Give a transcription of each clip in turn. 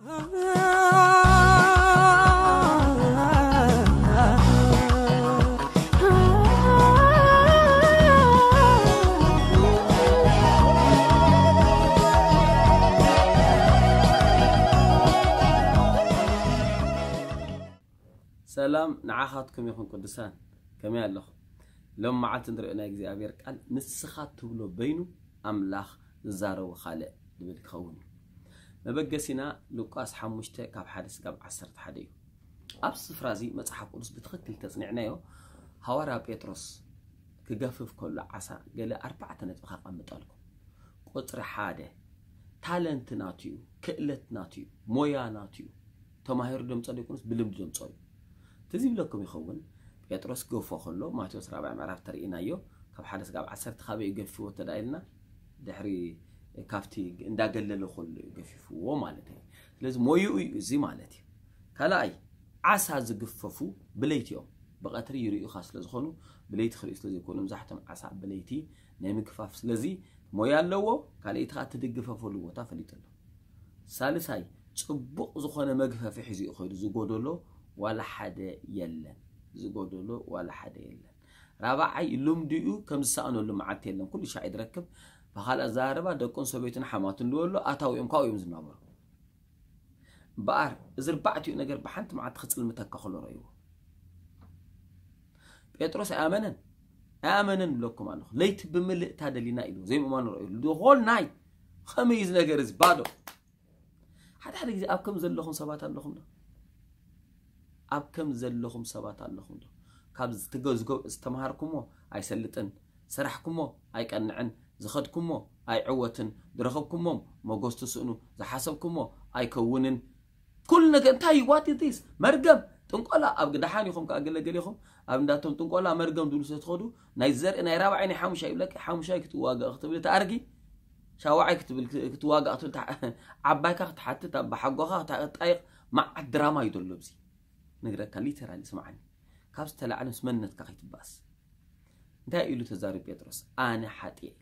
ሰላም ንዓኻትኩም ይኹን ቅዱሳን፣ ከመይ ኣለኹም? ሎም መዓልቲ ንሪኦ ናይ እግዚኣብሔር ቃል ንስኻ ትብሎ በይኑ ኣምላኽ ዝዛረቦ ካልእ ዝብል ክኸውን እዩ። መበገሲና ሉቃስ ሓሙሽተ ካብ ሓደ ስጋብ ዓሰርተ ሓደ እዩ። ኣብ ስፍራ እዚ መጽሓፍ ቅዱስ ብትኽክል ተጽኒዕናዮ፣ ሃዋርያ ጴጥሮስ ክገፍፍ ከሎ ዓሳ ገለ ኣርባዕተ ነጥቢ ከቐምጠልኩም። ቁጽሪ ሓደ፣ ታለንት ናቱ እዩ፣ ክእለት ናቱ እዩ፣ ሞያ ናቱ እዩ። ተማሂሩ ደምጾ ዘይኮነስ ብልምዲ ደምጾ እዩ። ትዝ ይብለኩም ይኸውን፣ ጴጥሮስ ገፎ ከሎ ማቴዎስ ራብዓይ ምዕራፍ ተርእናዮ፣ ካብ ሓደ ስጋብ ዓሰርተ ካበይ ገፊዎ ተዳኢልና፣ ድሕሪ ካብቲ እንዳገለለ ከሎ እዩ ገፊፍዎ ማለት እዩ። ስለዚ ሞይኡ እዩ እዚ ማለት እዩ። ካልኣይ፣ ዓሳ ዝግፈፉ ብለይቲ እዮም። ብቐትሪ ይርእዩኻ ስለ ዝኾኑ፣ ብለይቲ ክርእዩ ስለ ዘይኮኑ፣ መብዛሕትኦም ዓሳ ብለይቲ ናይ ምግፋፍ። ስለዚ ሞያ ኣለዎ፣ ካልኣይቲ ከዓ ትድግፈፈሉ ቦታ ፈሊጡ ኣሎ። ሳልሳይ፣ ጽቡቕ ዝኾነ መግፈፊ ሒዙ እዩ ከይዱ፣ ዝጎደሎ ዋላ ሓደ የለን። ዝጎደሎ ዋላ ሓደ የለን። ራብዓይ፣ ልምዲኡ ከም ዝሰኣነሉ መዓልቲ የለን። ኩሉ ሻዕ እዩ ዝረክብ። ብኻልእ ኣዘራርባ፣ ደቁን ሰበይቱን ሓማቱን ዝበሎ ኣታዊኦም ካብኡ እዮም ዝናበሩ። እምበኣር፣ እዚ ኣርባዕቲኡ ነገር ብሓንቲ መዓልቲ ክጽልምተካ ከሎ ረእይዎ። ጴጥሮስ ኣይኣመነን፣ ኣይኣመነን እብለኩም ኣለኹ። ለይቲ ብምልእታ ደሊና ኢሉ፣ ዘይምእማኑ ረእዩ። The whole night። ከመይ እዩ እዚ ነገር እዚ? ባዶ። ሓደ ሓደ ግዜ ኣብ ከም ዘለኹም ሰባት ኣለኹም ዶ? ኣብ ከም ዘለኹም ሰባት ኣለኹም ዶ? ካብ ዝትገ-፣ ዝገ-፣ ዝተምሃርኩሞ ኣይሰልጥን፣ ዝሰራሕኩሞ ኣይቀንዕን፣ ዝኸድኩሞ ኣይዕወትን፣ ዝረኸብኩሞም መጎስ ትስእኑ፣ ዝሓሰብኩሞ ኣይከውንን። ኩሉ ነገር እንታይ እዩ? What is this? መርገም፣ ጥንቆላ። ኣብ ደሓን ኢኹም ከኣ ገለ ገለ ኢኹም ኣብ እንዳቶም ጥንቆላ መርገም ዝብሉ ስለ ትኸዱ፣ ናይ ዘርኢ ናይ ራብዓይ ናይ ሓሙሻይ ይብለካ፣ ሓሙሻይ ክትዋጋእ ክትብል ትኣርጊ፣ ሻውዓይ ክትብል ክትዋጋእ ክትብል ትሓ-፣ ዓባይካ ክትሓትት፣ ኣብ ሓጎኻ ክትጣይቕ፣ መዓት ድራማ እዩ ዘሎ ኣብዚ። ነግረካ፣ ሊተራሊ ስምዓኒ። ካብ ዝተላዕለ ምስ መንነትካ ከይትባእስ። እንታይ ኢሉ ተዛሪቡ ጴጥሮስ? ኣነ ሓጥየ ኢሉ።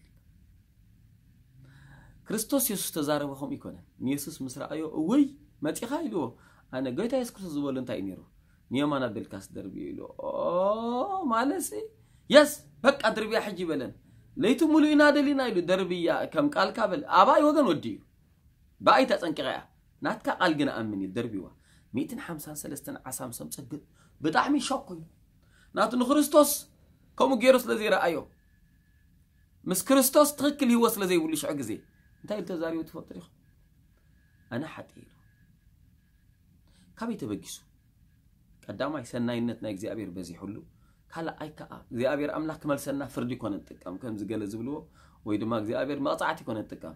ክርስቶስ የሱስ ተዛረበ ከምኡ ይኮነን። ንየሱስ ምስ ረኣዮ፣ እውይ፣ መጺኻ ኢልዎ። ኣነ፣ ጎይታ የሱስ ክርስቶስ ዝበሎ እንታይ እዩ ነይሩ? ንየማን ኣቢልካስ ደርብዮ ኢልዎ። ኦ፣ ማለትሲ፣ የስ፣ በቃ ድርብያ ሕጂ በለን። ለይቲ ሙሉእ ኢና ደሊና ኢሉ፣ ደርብያ ከም ቃልካ በል። ኣባይ ወገን ወዲ እዩ። ብኣይ ተጸንቂቐ እያ። ናትካ ቃል ግን ኣምን ኢሉ ደርብይዋ። ሚእትን ሓምሳን ሰለስተን ዓሳ ምስ ኣምጸ ብ-፣ ብጣዕሚ ሾክ ኮይኑ። ናቱ ንክርስቶስ ከምኡ ገይሩ ስለ ዘይረኣዮ፣ ምስ ክርስቶስ ትኽክል ህይወት ስለ ዘይብሉ ሽዑ ግዜ እንታይ ኢሉ ተዛሪቡ ትፈልጡ ዲኹም? ኣነ ሓጥእ ኢሉ። ካበይ ተበጊሱ? ቀዳማይ ሰናይነት ናይ እግዚኣብሔር በዚሑሉ፣ ካልኣይ ከኣ እግዚኣብሔር ኣምላኽ ክመልሰና ፍርዲ ኮነ ንጥቀም፣ ከምዚ ገለ ዝብልዎ ወይ ድማ እግዚኣብሔር መቕጻዕቲ ኮነ ንጥቀም።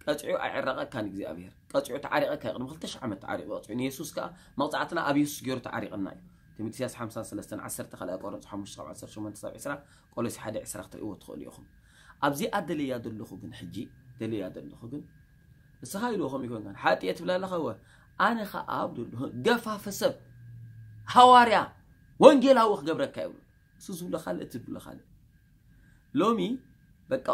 ቀጺዑ ኣይዕረቐካን እግዚኣብሔር። ቀጺዑ ተዓሪቐካ እዩ። ቅድሚ ክልተ ሽሕ ዓመት ተዓሪቑ ቀጺዑ። ንየሱስ ከኣ መቕጻዕትና ኣብ የሱስ ገይሩ ተዓሪቐና እዩ። ትንቢት ኢሳያስ ሓምሳን ሰለስተን ዓሰርተ፣ ካልኣይ ቆሮንቶስ ሓሙሽተ ካብ ዓሰርተ ሸሞንተ ክሳብ ዕስራ፣ ቆሎሲ ሓደ ዕስራ ክትርእይዎ ትኽእሉ ኢኹም። ኣብዚኣ ደልያ ዘለኹ ግን ሕጂ፣ ደልያ ዘለኹ ግን፣ ንስኻ ኢልዎ ከምኡ ይኮንካን። ሓጥየ ትብል ኣለኻ እወ። ኣነ ኸኣ ኣብ ዘሎ ገፋፈ ሰብ፣ ሃዋርያ፣ ወንጌላዊ ክገብረካ ይብሉ። እሱ ዝብሎ ካልእ፣ እቲ ዝብሎ ካልእ። ሎሚ በቃ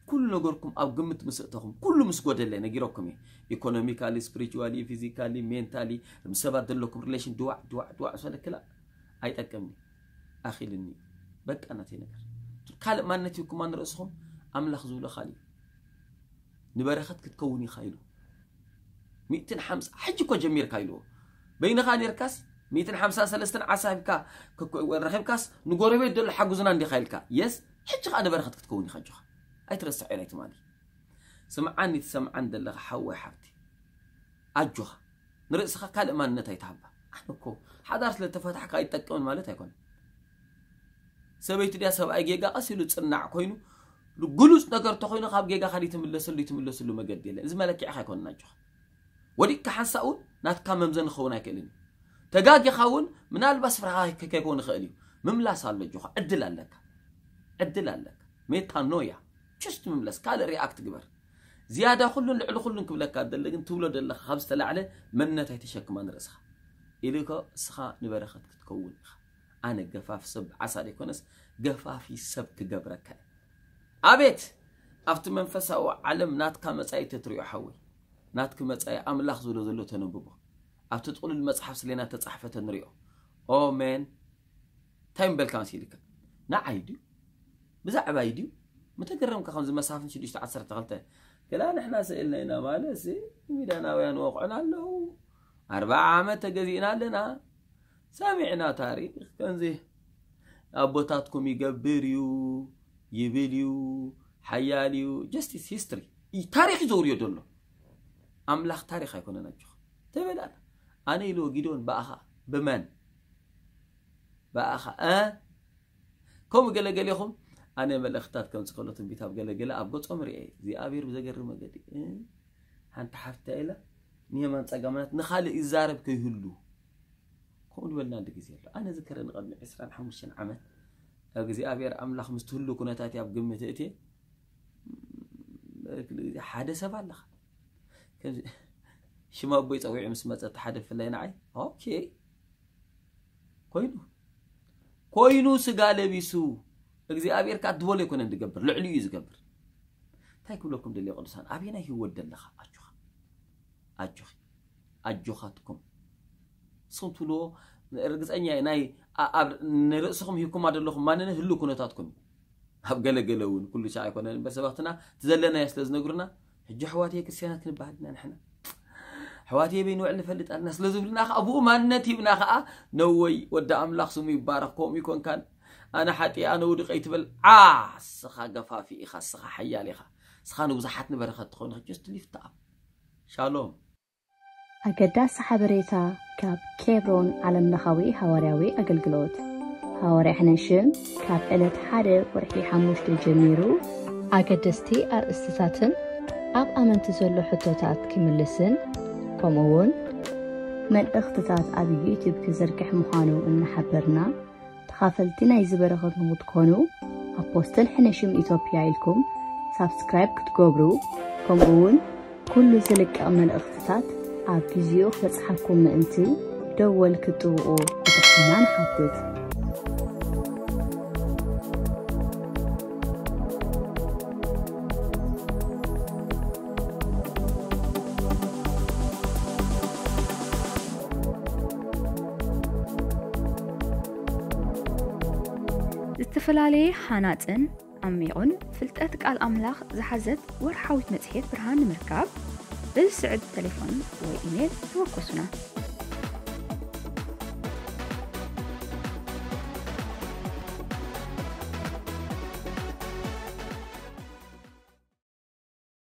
ኩሉ ነገርኩም ኣብ ግምት ምስ እተኹም፣ ኩሉ ምስ ጎደለ ነጊረኩም እየ። ኢኮኖሚካሊ፣ ስፒሪቹዋሊ፣ ፊዚካሊ፣ ሜንታሊ፣ ምስ ሰባት ዘለኩም ሪሌሽን ድዋዕ፣ ድዋዕ፣ ድዋዕ፣ ሰለ ክላ ኣይጠቅምኒ። ኣኺልኒ። በቃ ናተይ ነገር። ካልእ ማንነት ይኩማ ንርእስኹም፣ ኣምላኽ ዝብሎ ካልእ እዩ። ንበረኸት ክትከውን ኢኻ ኢሉ። ሚእትን ሓምሳ፣ ሕጂ እኮ ጀሚርካ ኢልዎ። በይንኻ ኔርካስ፣ ሚእትን ሓምሳን ሰለስተን ዓሳ ሂብካ፣ ክክ-፣ ረኺብካስ፣ ንጎረቤት ዘሎ ሓጉዝና እንዲኻ ኢልካ። የስ፣ ሕጂ ኸኣ ንበረኸት ክትከውን ኢኻ ኣጆኻ። ኣይትረስዖ ኢላ ትማሊ። ስምዓኒ ትሰምዓን ዘለኻ ሓወይ ሓብቲ። ኣጆኻ። ንርእስኻ ካልእ ማንነት ኣይትሃባ። ኣነ እኮ ሓዳር ስለ ተፈታሕካ ኣይትጠቅምን ማለት ኣይኮነን። ሰበይቲ ድያ ሰብኣይ ጌጋ ቀስ ኢሉ ጽናዕ ኮይኑ፣ ግሉጽ ነገር ተኾይኑ ካብ ጌጋኻ ዲትምለሰሉ፣ ይትምለሰሉ መገዲ የለን። እዚ መለኪዕኻ ኣይኮነን ኣጆኻ። ወዲቅካ ሓንሳእ እውን ናትካ መምዘኒ ክኸውን ኣይክእልን እዩ። ተጋጊኻ እውን ምናልባት ስፍራኻ ከ-፣ ከይከውን ይኽእል እዩ። ምምላስ ኣሎ ኣጆኻ፣ ዕድል ኣለካ። ዕድል ኣለካ። ሜታኖያ። ችስት ምምለስ፣ ካልእ ሪኣክት ግበር። ዝያዳ ኩሉን ልዕሊ ኩሉን ክብለካ ደሊ ግን ትብሎ ደለኻ ካብ ዝተላዕለ መንነት ኣይተሸክማ ንርእስኻ። ኢሉ እኮ እስኻ ንበረኸት ክትከውን ኢኻ። ኣነ ገፋፍ ሰብ ዓሳ ዘይኮነስ ገፋፊ ሰብ ክገብረካ እየ። ኣቤት! ኣብቲ መንፈሳዊ ዓለም ናትካ መጻኢ ተትሪኦ ሓወይ። ናትኪ መጻኢ ኣምላኽ ዝብሎ ዘሎ ተነብቦ። ኣብቲ ጥቕሉል መጽሓፍ ስሌና ተጻሕፈ ተንሪኦ። ኦሜን። እንታይ ምበልካ መሲልካ? ንዓይ ድዩ? ብዛዕባይ ድዩ? ምተገረምካ ከምዚ መሳፍን ሽዱሽተ ዓሰርተ ክልተ ገላ ንሕና ስእልና ኢና ማለት ሲ ሚዳናውያን ወቕዑና ኣለዉ። ኣርባዓ ዓመት ተገዚእና ኣለና። ሰሚዕና ታሪኽ ከምዚ ኣቦታትኩም ይገብር እዩ፣ ይብል እዩ፣ ሓያል እዩ። Justice history። ታሪኽ እዩ ዘውርዮ ዘሎ። ኣምላኽ ታሪኽ ኣይኮነን ኣጆኻ። ተበላና። ኣነ ኢልዎ ጊዶን ብኣኻ ብመን? ብኣኻ እ ከምኡ ገለገሌኹም ኣነ መልእኽታት ከምዚ ከሎ ትንቢት ኣብ ገለገለ ኣብ ገጾም ርኤ እግዚኣብሔር ብዘገርም መገዲ እ ሓንቲ ሓፍታ ኢላ ንየማን ጸጋማናት ንኻልእ ይዛረብ ከይህሉ ከምኡ ዝበልና እንዲ ግዜ ኣሎ። ኣነ ዝከረ ንቐድሚ ዕስራን ሓሙሽተን ዓመት እግዚኣብሔር ኣምላኽ ምስ ትህሉ ኩነታት ኣብ ግምት እቴ ሓደ ሰብ ኣለኻ ሽማ ኣቦይ ጸዊዑ ምስ መጸ ሓደ ፍላይ ንዓይ ኦኬ ኮይኑ ኮይኑ ስጋ ለቢሱ እግዚኣብሔር ከኣ ድበሎ ኣይኮነን ዝገብር ልዕሊ እዩ ዝገብር እንታይ ክብለኩም ደልየ ቅዱሳን ኣበየናይ ህይወት ደለኻ ኣጆኻ ኣጆኺ ኣጆኻትኩም ስኹም ትብልዎ ርግፀኛ ናይ ንርእስኹም ሂብኩማ ዘለኹም ማንነት ህሉ ኩነታትኩም እዩ ኣብ ገለገለ እውን ኩሉ ሻዕ ኣይኮነን እምበር ሰባትና ትዘለናዮ ስለ ዝነግሩና ሕጂ ኣሕዋትየ ክርስትያናት ክንበሃል ኢና ንሕና ኣሕዋትየ በይ ንውዕል ንፈልጥ ኣለና ስለ ዝብልና ከዓ ብኡ ማንነት ሂብና ከዓ ነወይ ወዲ ኣምላኽ ስሙ ይባረኽ ከምኡ ይኮንካን ኣነ ሓጢ ኣነ ውድቀ ይትበል ዓ ስኻ ገፋፊ ኢኻ ስኻ ሓያል ኢኻ ስኻ ንብዙሓት ንበረኸት ትኸውን ኢኻ just lift up shalom ኣገዳሲ ሓበሬታ ካብ ኬብሮን ዓለምለኻዊ ሃዋርያዊ ኣገልግሎት። ሃዋርያ ሕነሽም ካብ ዕለት ሓደ ወርሒ ሓሙሽተ ጀሚሩ ኣገደስቲ ኣርእስትታትን ኣብ ኣመንቲ ዘሎ ሕቶታት ክምልስን ከምኡ እውን መልእኽትታት ኣብ ዩቲዩብ ክዝርግሕ ምዃኑ እናሓበርና ተኻፈልቲ ናይዚ በረኸት ንኽትኮኑ ኣፖስትል ሕነ ሽም ኢትዮጵያ ኢልኩም ሳብስክራይብ ክትገብሩ ከምኡ እውን ኩሉ ዝልቀቕ መልእኽትታት ኣብ ግዚኡ ክበጽሓኩም ምእንቲ ደወል ክትጥውቑ ብትሕትና ንሓትት። ዝተፈላለየ ሃናጽን ዓሚቑን ፍልጠት ቃል ኣምላኽ ዝሓዘት ወርሓዊት መጽሔት ብርሃን ንምርካብ በዚ ስዕብ ተሌፎን ወይ ኢሜል ተወከሱና።